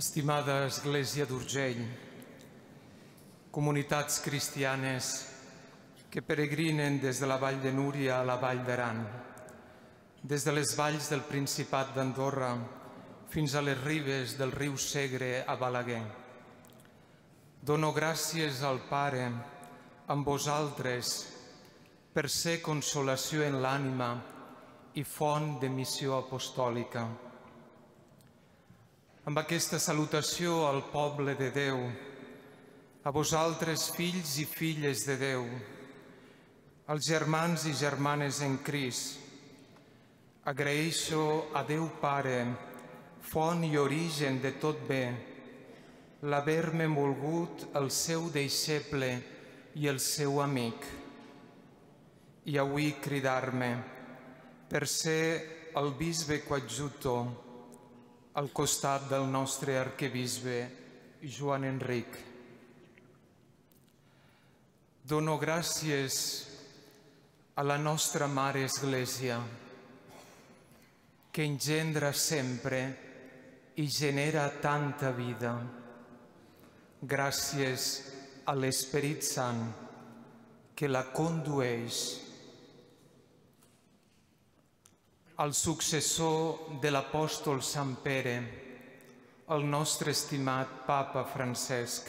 Estimada Església d'Urgell, comunitats cristianes que peregrinen des de la Vall de Núria a la Vall d'Aran, des de les valls del Principat d'Andorra fins a les ribes del riu Segre a Balaguer. Dono gràcies al Pare amb vosaltres per ser consolació en l'ànima i font de missió apostòlica. Amb aquesta salutació al poble de Déu, a vosaltres, fills i filles de Déu, als germans i germanes en Crist, agraeixo a Déu Pare, font i origen de tot bé, l'haver-me volgut el seu deixeble i el seu amic, i avui cridar-me per ser el bisbe coadjutor al costat del nostre arquebisbe Joan Enric. Dono gràcies a la nostra Mare Església, que engendra sempre i genera tanta vida. Gràcies a l'Esperit Sant, que la condueix. Al successor de l'apòstol Sant Pere, el nostre estimat Papa Francesc.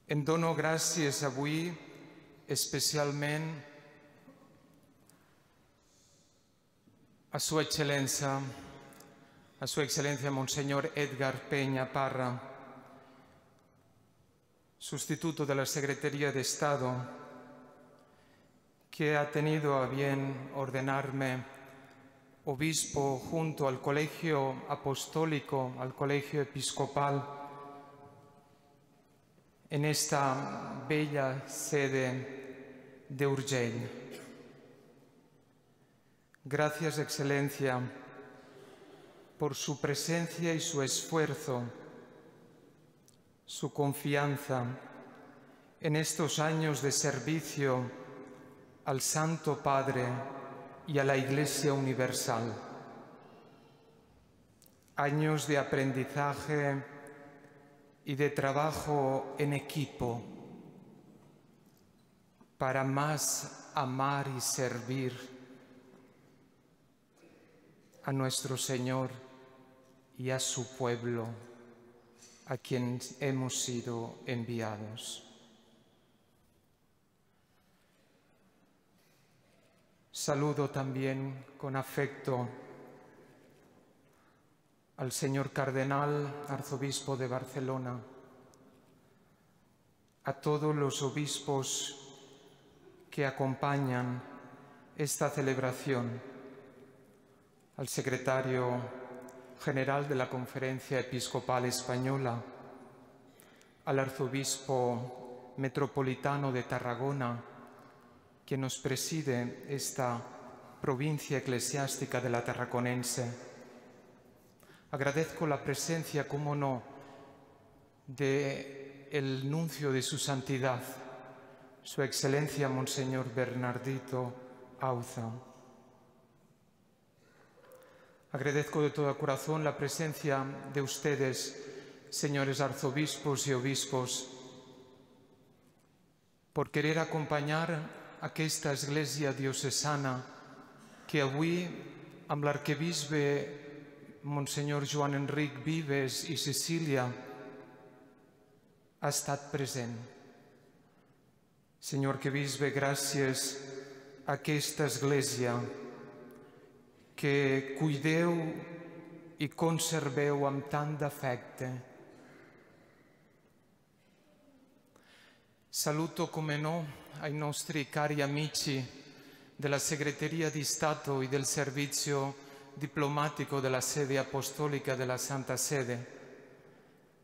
Em dono gràcies avui especialment a Su Excelencia Monseñor Edgar Peña Parra, sustituto de la Secretaría de Estado, que ha tenido a bien ordenarme obispo junto al Colegio Apostólico, al Colegio Episcopal, en esta bella sede de Urgell. Gracias, Excelencia, por su presencia y su esfuerzo, su confianza en estos años de servicio al Santo Padre y a la Iglesia Universal. Años de aprendizaje y de trabajo en equipo para más amar y servir a nuestro Señor y a su pueblo, a quien hemos sido enviados. Saludo también con afecto al señor Cardenal, arzobispo de Barcelona, a todos los obispos que acompañan esta celebración, al secretario general de la Conferencia Episcopal Española, al arzobispo metropolitano de Tarragona, que nos preside esta provincia eclesiástica de la Tarraconense. Agradezco la presencia, cómo no, del nuncio de su santidad, Su Excelencia Monseñor Bernardito Auza. Agradezco de todo corazón la presencia de ustedes, señores arzobispos y obispos, por querer acompanyar aquesta església diocesana que avui, amb l'arquebisbe Monsenyor Joan Enric Vives i Cecília, ha estat present. Senyor arquebisbe, gràcies a aquesta església que cuideu i conserveu amb tant d'afecte. Saluto, come no, ai nostri cari amici della Segreteria di Stato e del Servizio Diplomatico della Sede Apostolica della Santa Sede,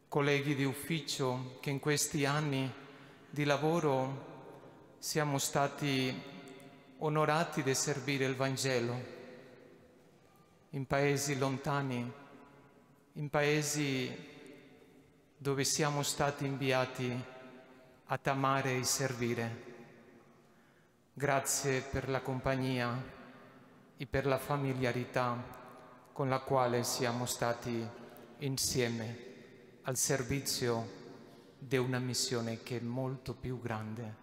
colleghi di ufficio che in questi anni di lavoro siamo stati onorati di servire il Vangelo in paesi lontani, in paesi dove siamo stati inviati ad amare e servire. Grazie per la compagnia e per la familiarità con la quale siamo stati insieme al servizio di una missione che è molto più grande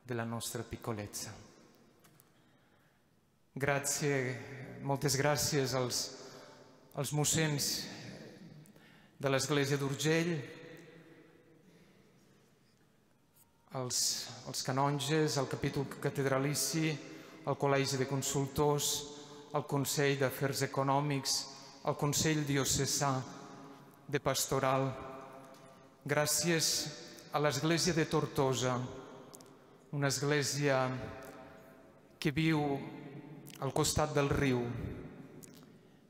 della nostra piccolezza. Grazie, moltes gràcies als mossens de l'Església d'Urgell, als canonges, al capítol catedralici, al Col·legi de Consultors, al Consell d'Afers Econòmics, al Consell Diocesà de Pastoral. Gràcies a l'Església de Tortosa, una església que viu al costat del riu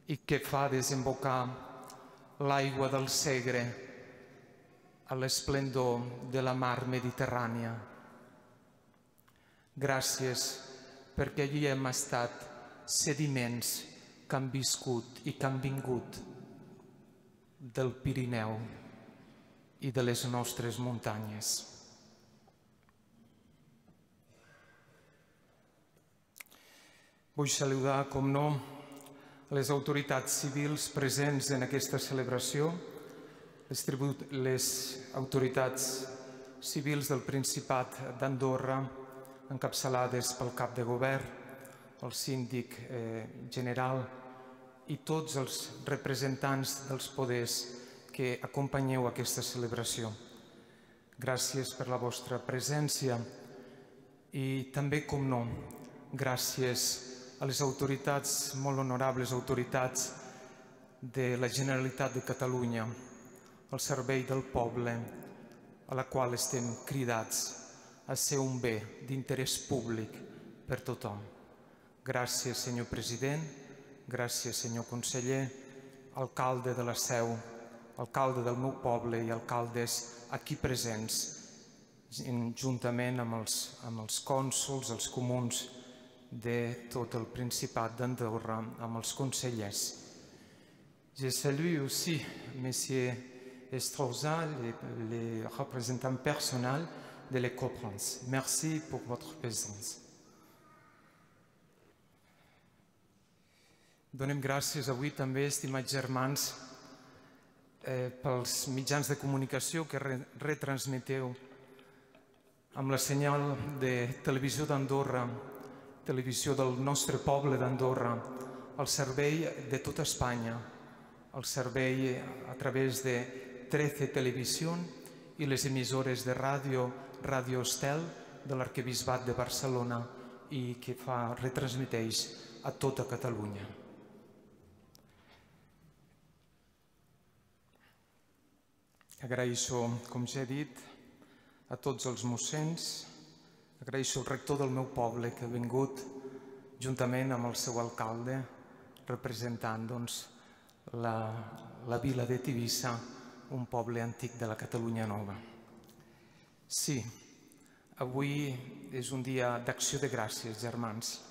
i que fa desembocar l'aigua del Segre a l'esplendor de la mar Mediterrània. Gràcies perquè allí hem estat sediments que han viscut i que han vingut del Pirineu i de les nostres muntanyes. Vull saludar, com no, les autoritats civils presents en aquesta celebració, les autoritats civils del Principat d'Andorra, encapçalades pel cap de govern, el síndic general i tots els representants dels poders que acompanyeu aquesta celebració. Gràcies per la vostra presència i també, com no, gràcies a les autoritats, molt honorables autoritats de la Generalitat de Catalunya, al servei del poble, a la qual estem cridats a ser un bé d'interès públic per tothom. Gràcies, senyor president, gràcies, senyor conseller, alcalde de la Seu, alcalde del meu poble i alcaldes aquí presents, juntament amb els cònsols, els comuns de tot el Principat d'Andorra, amb els consellers. Je salue aussi M. Estroza, les représentants personnels de l'Ecoprance. Merci pour votre présence. Donem gràcies avui també, estimats germans, pels mitjans de comunicació que retransmeteu amb la senyal de Televisió d'Andorra, televisió del nostre poble d'Andorra, al servei de tota Espanya, al servei a través de 13 Televisió i les emissores de ràdio, Radio Estel, de l'Arquebisbat de Barcelona i que retransmeteix a tota Catalunya. Agraeixo, com ja he dit, a tots els mossens, agraeixo al rector del meu poble que ha vingut juntament amb el seu alcalde, representant la vila de Tivissa, un poble antic de la Catalunya Nova. Sí, avui és un dia d'acció de gràcies, germans.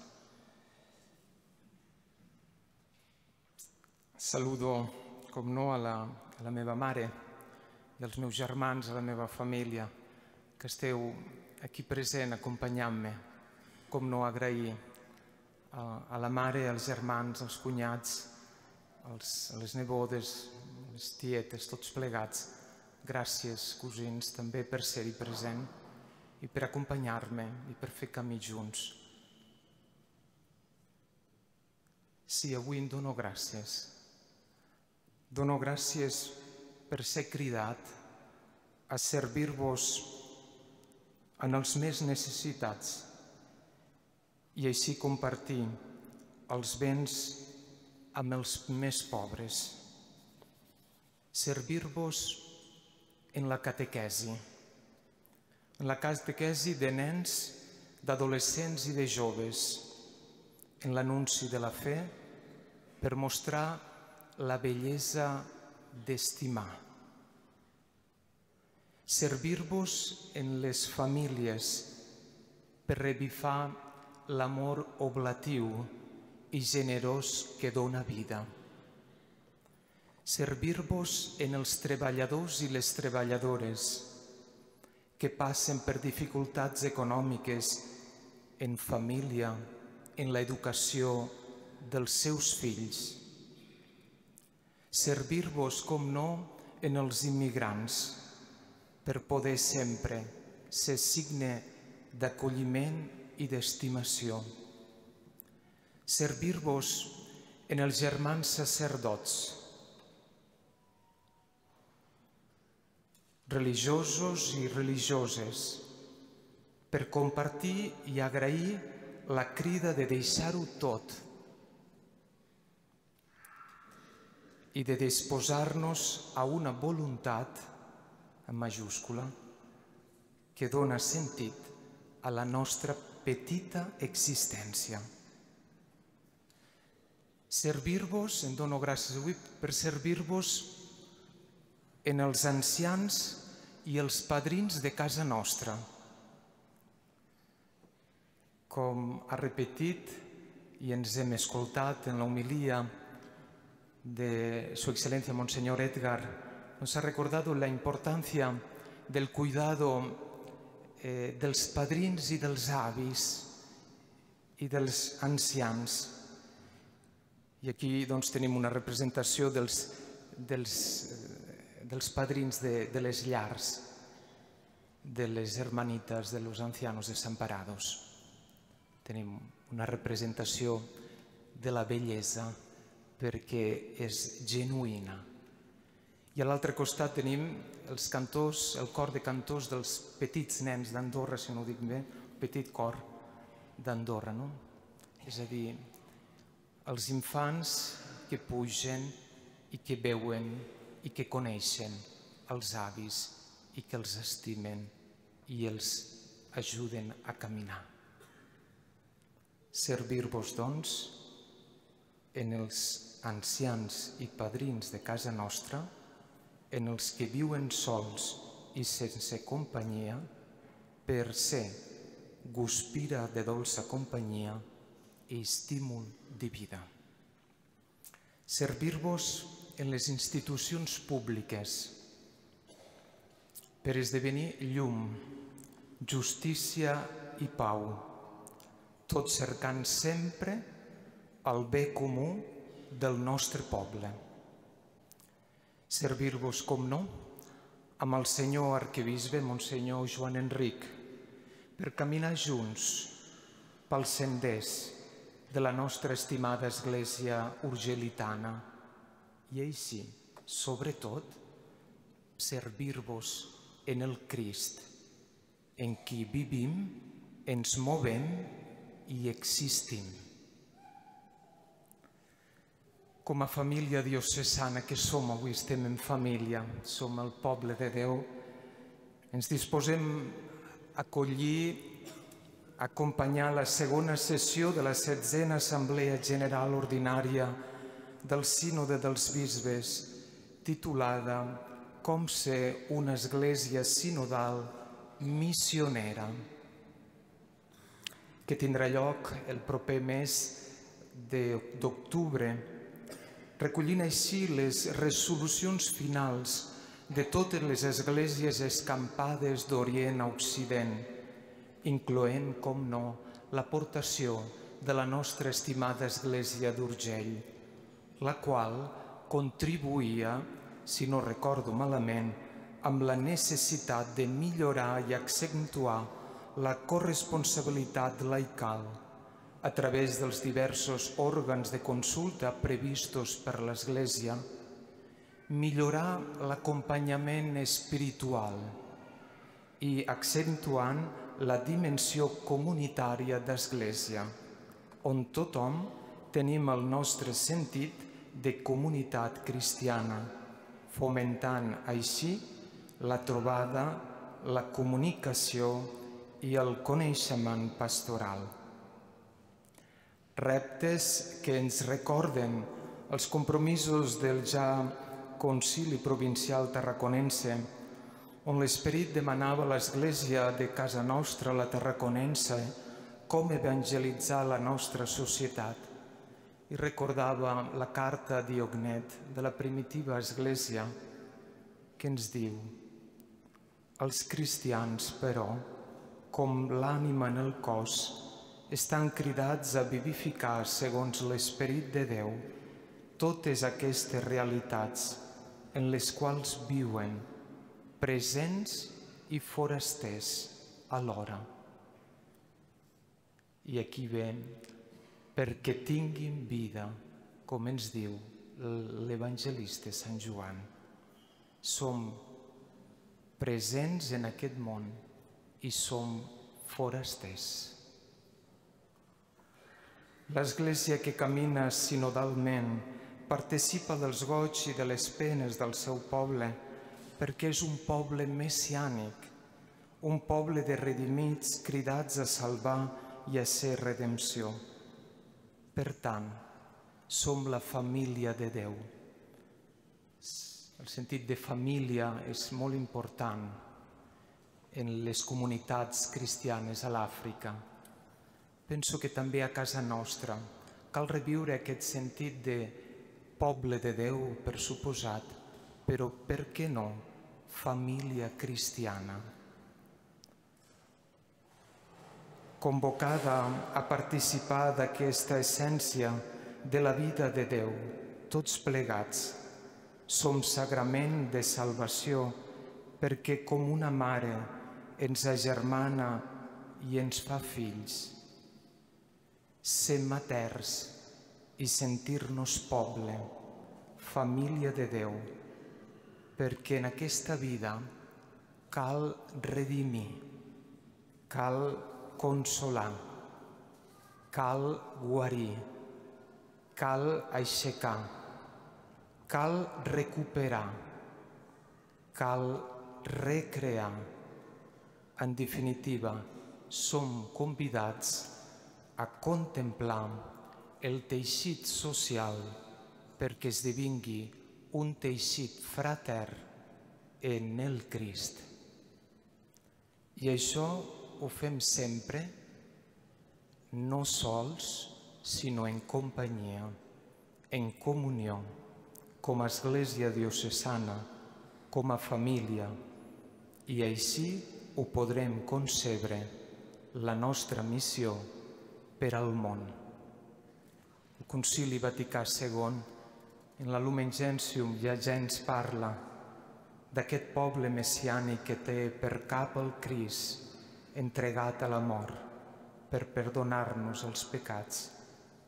Saludo, com no, a la meva mare i als meus germans, a la meva família, que esteu aquí present acompanyant-me. Com no, agrair a la mare, als germans, als cunyats, a les nebodes, les tietes, tots plegats. Gràcies, cosins, també per ser-hi present i per acompanyar-me i per fer camí junts. Sí, avui em dono gràcies. Dono gràcies per ser cridat a servir-vos en els més necessitats i així compartir els béns amb els més pobres. Servir-vos en la catequesi de nens, d'adolescents i de joves, en l'anunci de la fe, per mostrar la bellesa d'estimar. Servir-vos en les famílies per revifar l'amor oblatiu i generós que dona vida. Servir-vos en els treballadors i les treballadores que passen per dificultats econòmiques en família, en l'educació dels seus fills. Servir-vos, com no, en els immigrants, per poder sempre ser signe d'acolliment i d'estimació. Servir-vos en els germans sacerdots, religiosos i religioses, per compartir i agrair la crida de deixar-ho tot i de disposar-nos a una voluntat, en majúscula, que dona sentit a la nostra petita existència. Servir-vos, em dono gràcies avui per servir-vos en els ancians i els padrins de casa nostra. Com ha repetit i ens hem escoltat en l'homilia de Su Excelencia Monseñor Edgar, nos ha recordado la importancia del cuidado dels padrins i dels avis i dels ancians. I aquí tenim una representació dels padrins de les llars, de les hermanitas de los ancianos desamparados. Tenim una representació de la bellesa perquè és genuïna. I a l'altre costat tenim els cantors, el cor de cantors dels petits nens d'Andorra, si no ho dic bé, petit cor d'Andorra, no? És a dir, els infants que pugen i que veuen i que coneixen els avis i que els estimen i els ajuden a caminar. Servir-vos, doncs, en els ancians i padrins de casa nostra, en els que viuen sols i sense companyia, per ser guspira de dolça companyia i estímul de vida. Servir-vos en les institucions públiques, per esdevenir llum, justícia i pau, tot cercant sempre el bé comú del nostre poble. Servir-vos, com no, amb el senyor arquebisbe, Monsenyor Joan Enric, per caminar junts pels senders de la nostra estimada Església urgelitana i així, sobretot, servir-vos en el Crist, en qui vivim, ens movem i existim. Com a família diocesana que som, avui estem en família, som el poble de Déu, ens disposem a acollir, a acompanyar la segona sessió de la 16a Assemblea General Ordinària del Sínode dels Bisbes, titulada Com ser una església sinodal missionera, que tindrà lloc el proper mes d'octubre, recollint així les resolucions finals de totes les esglésies escampades d'Orient a Occident, incloent, com no, l'aportació de la nostra estimada Església d'Urgell, la qual contribuïa, si no recordo malament, amb la necessitat de millorar i accentuar la corresponsabilitat laical a través dels diversos òrgans de consulta previstos per l'Església, millorar l'acompanyament espiritual i accentuant la dimensió comunitària d'Església, on tothom tenim el nostre sentit de comunitat cristiana, fomentant així la trobada, la comunicació i el coneixement pastoral. Reptes que ens recorden els compromisos del ja Concili Provincial Tarraconense, on l'esperit demanava a l'Església de casa nostra, la tarraconense, com evangelitzar la nostra societat, i recordava la carta a Diognet de la primitiva Església, que ens diu: els cristians, però, com l'ànima en el cos, estan cridats a vivificar segons l'Esperit de Déu totes aquestes realitats en les quals viuen presents i forasters alhora. I aquí ve, perquè tinguin vida, com ens diu l'evangelista Sant Joan. Som presents en aquest món i som forasters. L'Església que camina sinodalment participa dels goig i de les penes del seu poble perquè és un poble messiànic, un poble de redimits cridats a salvar i a ser redempció. Per tant, som la família de Déu. El sentit de família és molt important en les comunitats cristianes a l'Àfrica. Penso que també a casa nostra cal reviure aquest sentit de poble de Déu, per suposat, però per què no família cristiana? Convocada a participar d'aquesta essència de la vida de Déu, tots plegats, som sagrament de salvació perquè com una mare ens agermana i ens fa fills. Ser materns i sentir-nos poble, família de Déu, perquè en aquesta vida cal redimir, cal consolar, cal guarir, cal aixecar, cal recuperar, cal recrear. En definitiva, som convidats a contemplar el teixit social perquè esdevingui un teixit fratern en el Crist. I això ho fem sempre, no sols, sinó en companyia, en comunió, com a Església diocesana, com a família, i així ho podrem concebre la nostra missió per al món. El Concili Vaticà II, en la Lumen Gentium, ja ens parla d'aquest poble messiànic que té per cap el Crist entregat a la mort per perdonar-nos els pecats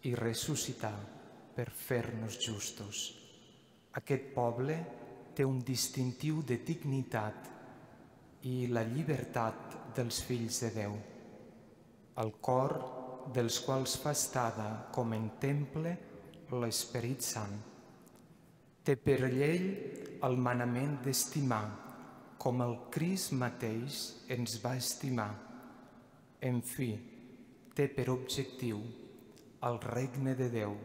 i ressuscitar per fer-nos justos. Aquest poble té un distintiu de dignitat i la llibertat dels fills de Déu, el cor dels quals fa estada com en temple l'Esperit Sant. Té per llei el manament d'estimar com el Crist mateix ens va estimar. En fi, té per objectiu el regne de Déu,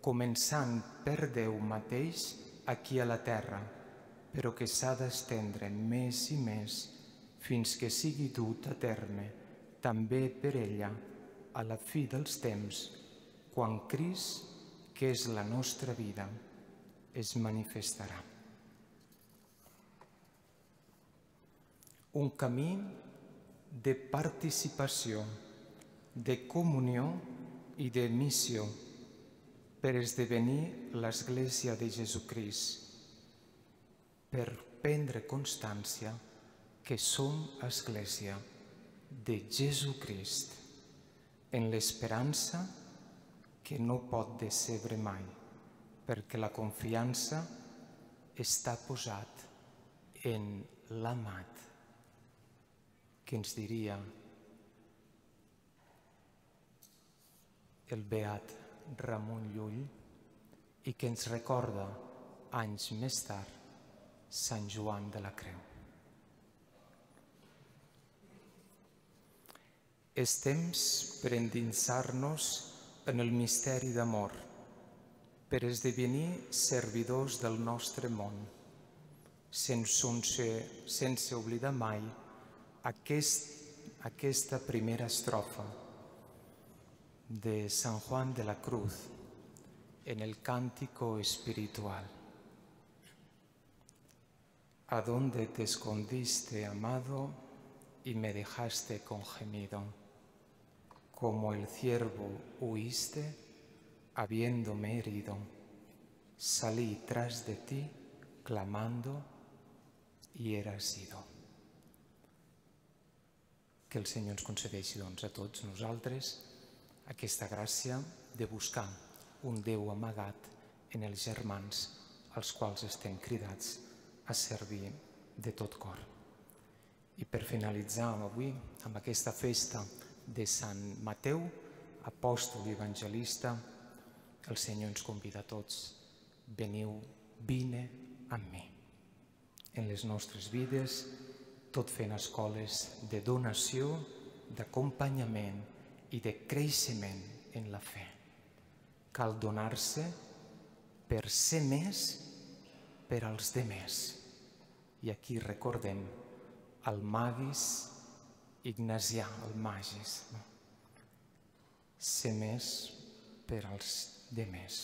començant per Déu mateix aquí a la terra, però que s'ha d'estendre més i més fins que sigui dut a terme, també per ella, a la fi dels temps, quan Crist, que és la nostra vida, es manifestarà. Un camí de participació, de comunió i de missió per esdevenir l'Església de Jesucrist, per prendre constància que som Església de Jesucrist, en l'esperança que no pot decebre mai, perquè la confiança està posat en l'Amat, que ens diria el beat Ramon Llull i que ens recorda anys més tard Sant Joan de la Creu. És temps per endinsar-nos en el misteri d'amor, per esdevenir servidors del nostre món, sense oblidar mai aquesta primera estrofa de San Juan de la Cruz en el Cántico Espiritual. ¿A dónde te escondiste, amado, y me dejaste con gemido? Como el ciervo huiste, habiéndome herido. salí tras de ti clamando y era sido. Que el Senyor ens concedeixi a tots nosaltres aquesta gràcia de buscar un Déu amagat en els germans als quals estem cridats a servir de tot cor. I per finalitzar avui amb aquesta festa de Sant Mateu, apòstol i evangelista, el Senyor ens convida a tots: veniu, vine amb mi. En les nostres vides, tot fent escoles de donació, d'acompanyament i de creixement en la fe. Cal donar-se per ser més per als demés. I aquí recordem el Magis Ignasià, el Magis. Ser més per als demés.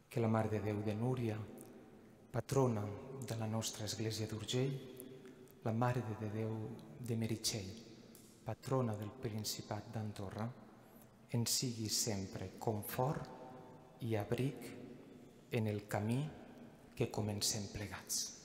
Que la Mare de Déu de Núria, patrona de la nostra Església d'Urgell, la Mare de Déu de Meritxell, patrona del Principat d'Andorra, ens sigui sempre confort i abric en el camí que comencem plegats.